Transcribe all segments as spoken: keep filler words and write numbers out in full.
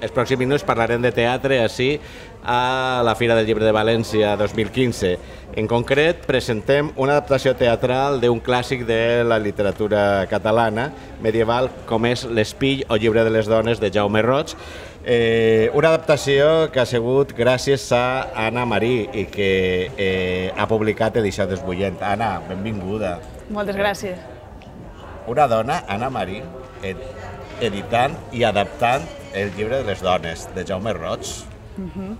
els pròxims minuts parlarem de teatre així a la Fira del Llibre de València dos mil quinze. En concret, presentem una adaptació teatral d'un clàssic de la literatura catalana medieval com és L'Espill o Llibre de les dones de Jaume Roig. Eh, una adaptació que ha sigut gràcies a Anna Marí i que eh, ha publicat Edicions Bullent. Anna, benvinguda. Moltes gràcies. Una dona, Anna Marí, ed editant i adaptant el Llibre de les dones de Jaume Roig. Uh-huh.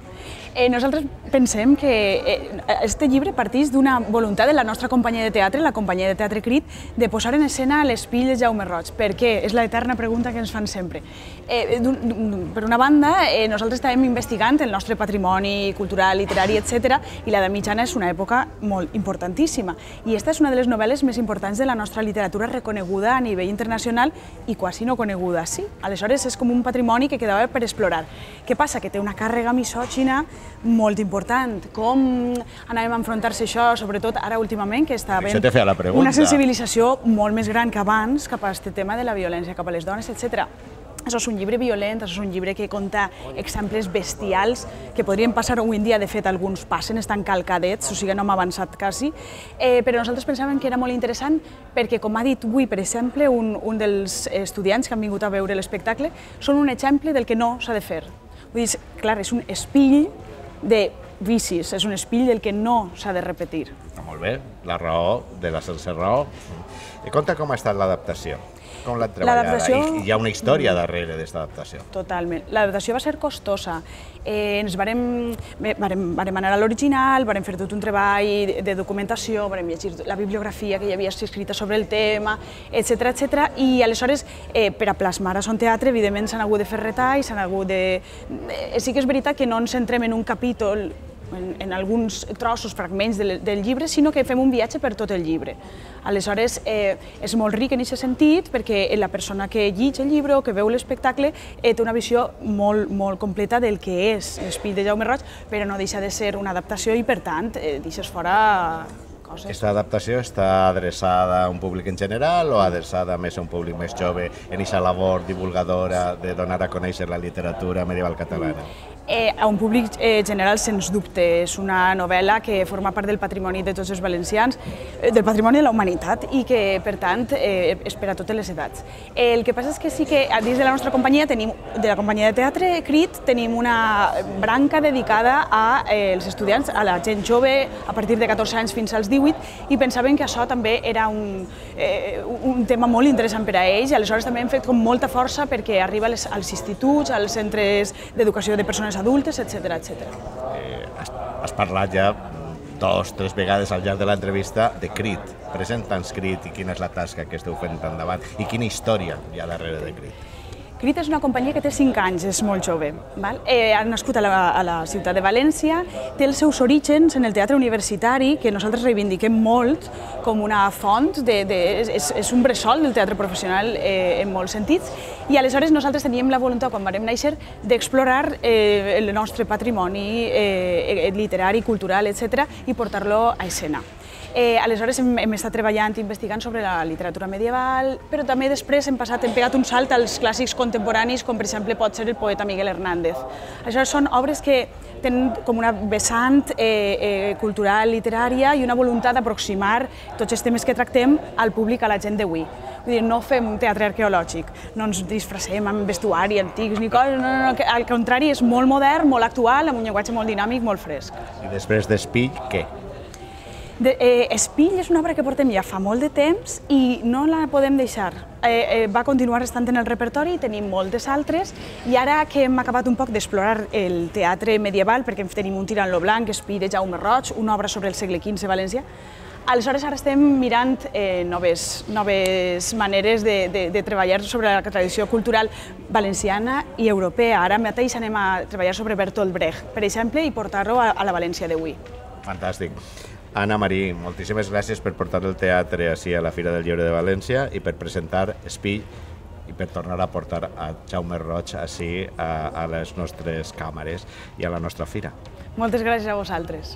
Eh, nosaltres pensem que aquest llibre parteix d'una voluntat de la nostra companyia de teatre, la companyia de teatre Crit, de posar en escena L'Espill de Jaume Roig. Per què? És l'eterna pregunta que ens fan sempre. Eh, per una banda, eh, nosaltres estàvem investigant el nostre patrimoni cultural, literari, etcètera, i l'edat mitjana és una època molt importantíssima. I aquesta és una de les novel·les més importants de la nostra literatura reconeguda a nivell internacional i quasi no coneguda, sí. Aleshores, és com un patrimoni que quedava per explorar. Què passa? Que té una càrrega misògina molt important. Com anàvem a enfrontar-se això, sobretot ara últimament, que està havent una sensibilització molt més gran que abans cap a aquest tema de la violència cap a les dones, etcètera. Això és un llibre violent, això és un llibre que conta exemples bestials que podrien passar avui en dia, de fet alguns passen, estan calcadets, o sigui no hem avançat quasi, eh, però nosaltres pensàvem que era molt interessant perquè, com ha dit avui, per exemple, un, un dels estudiants que han vingut a veure l'espectacle, són un exemple del que no s'ha de fer. Vull dir, clar, és un espill de vicis, és un espill del que no s'ha de repetir. Molt bé, la raó de la sense raó. I conta com ha estat l'adaptació, com l'han treballat, i hi ha una història darrere d'aquesta adaptació. Totalment. L'adaptació va ser costosa. Ens varem anar a l'original, varem fer tot un treball de documentació, varem llegir la bibliografia que hi havia escrita sobre el tema, etcètera, etcètera, i aleshores, per a plasmar a son teatre, evidentment s'han hagut de fer retalls, s'han hagut de... Sí que és veritat que no ens centrem en un capítol, en alguns trossos, fragments del llibre, sinó que fem un viatge per tot el llibre. Aleshores, és molt ric en aquest sentit, perquè la persona que llig el llibre o que veu l'espectacle té una visió molt completa del que és L'Espill de Jaume Roig, però no deixa de ser una adaptació i, per tant, deixes fora coses. Aquesta adaptació està adreçada a un públic en general o adreçada més a un públic més jove en aquesta labor divulgadora de donar a conèixer la literatura medieval catalana? A un públic general, sens dubte. És una novel·la que forma part del patrimoni de tots els valencians, del patrimoni de la humanitat i que, per tant, és per a totes les edats. El que passa és que sí que dins de la nostra companyia, de la companyia de teatre Crit, tenim una branca dedicada als estudiants, a la gent jove, a partir de catorze anys fins als divuit, i pensaven que això també era un tema molt interessant per a ells, i aleshores també hem fet com molta força perquè arriba als instituts, als centres d'educació de persones adultes, etcètera, etcètera. Has parlat ja dos, tres vegades al llarg de l'entrevista de Crit. Presenta'ns Crit i quina és la tasca que esteu fent endavant i quina història hi ha darrere de Crit. Crit és una companyia que té cinc anys, és molt jove. Ha nascut a la ciutat de València, té els seus orígens en el teatre universitari, que nosaltres reivindiquem molt com una font, és un bressol del teatre professional en molts sentits, i aleshores nosaltres teníem la voluntat, quan vam néixer, d'explorar el nostre patrimoni literari, cultural, etcètera, i portar-lo a escena. Aleshores hem estat treballant i investigant sobre la literatura medieval, però també després hem passat, hem pegat un salt als clàssics contemporanis, com per exemple pot ser el poeta Miguel Hernández. Aleshores són obres que tenen com una vessant cultural, literària i una voluntat d'aproximar tots els temes que tractem al públic, a la gent d'avui. Vull dir, no fem teatre arqueològic, no ens disfressem amb vestuari antics ni coses, no, no, no, al contrari, és molt modern, molt actual, amb un llenguatge molt dinàmic, molt fresc. I després d'Espill, què? Espill és una obra que portem ja fa molt de temps i no la podem deixar. Va continuar estant en el repertori, tenim moltes altres, i ara que hem acabat un poc d'explorar el teatre medieval, perquè tenim un Tirant lo Blanc, Espill de Jaume Roig, una obra sobre el segle quinze València, aleshores ara estem mirant noves maneres de treballar sobre la tradició cultural valenciana i europea. Ara mateix anem a treballar sobre Bertolt Brecht, per exemple, i portar-lo a la València d'avui. Fantàstic. Anna Marí, moltíssimes gràcies per portar el teatre ací a la Fira del Llibre de València i per presentar Espill i per tornar a portar a Jaume Roig ací a les nostres càmeres i a la nostra fira. Moltes gràcies a vosaltres.